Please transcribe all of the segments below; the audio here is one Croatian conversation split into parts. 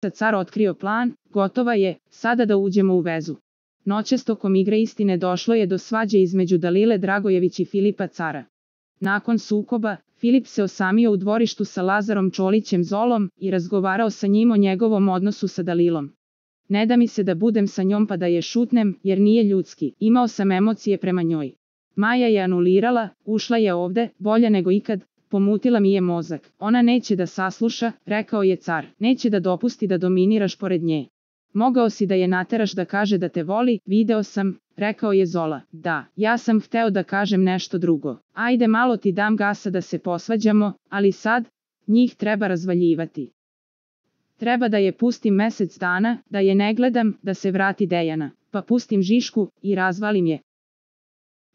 car otkrio plan, gotova je, sada da uđemo u vezu. Noćas tokom igre istine došlo je do svađe između Dalile Dragojević i Filipa Cara. Nakon sukoba, Filip se osamio u dvorištu sa Lazarom Čolićem Zolom i razgovarao sa njim o njegovom odnosu sa Dalilom. Ne da mi se da budem sa njom pa da je šutnem, jer nije ljudski, imao sam emocije prema njoj. Maja je anulirala, ušla je ovde, bolja nego ikad, pomutila mi je mozak. Ona neće da sasluša, rekao je car, neće da dopusti da dominiraš pored nje. Mogao si da je nateraš da kaže da te voli, video sam, rekao je Zola. Da, ja sam hteo da kažem nešto drugo. Ajde malo ti dam gasa da se posvađamo, ali sad, njih treba razvaljivati. Treba da je pustim mesec dana, da je ne gledam, da se vrati Dejana, pa pustim Žišku i razvalim je.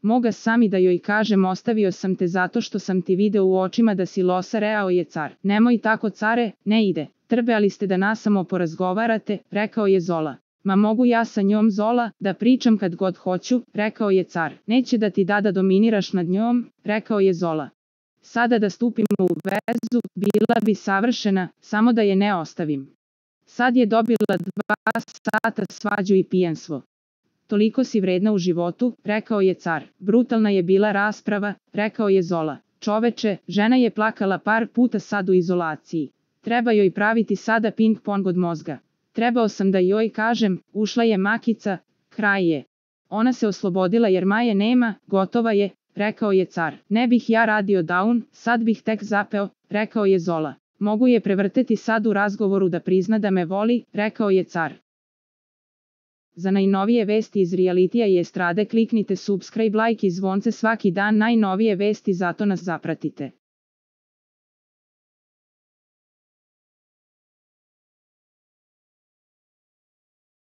Moga sami da joj kažem ostavio sam te zato što sam ti video u očima da si losa, reao je car. Nemoj tako care, ne ide. Trebali ste da nasamo porazgovarate, rekao je Zola. Ma mogu ja sa njom Zola, da pričam kad god hoću, rekao je car. Neće da ti da dominiraš nad njom, rekao je Zola. Sada da stupimo u vezu, bila bi savršena, samo da je ne ostavim. Sad je dobila 2 sata svađu i pijanstvo. Toliko si vredna u životu, rekao je car. Brutalna je bila rasprava, rekao je Zola. Čoveče, žena je plakala par puta sad u izolaciji. Treba joj praviti sada ping-pong od mozga. Trebao sam da joj kažem, ušla je Makica, kraj je. Ona se oslobodila jer Maje nema, gotova je, rekao je car. Ne bih ja radio down, sad bih tek zapeo, rekao je Zola. Mogu je prevrteti sad u razgovoru da prizna da me voli, rekao je car. Za najnovije vesti iz realitija i estrade kliknite subscribe, like i zvonce svaki dan, najnovije vesti, zato nas zapratite.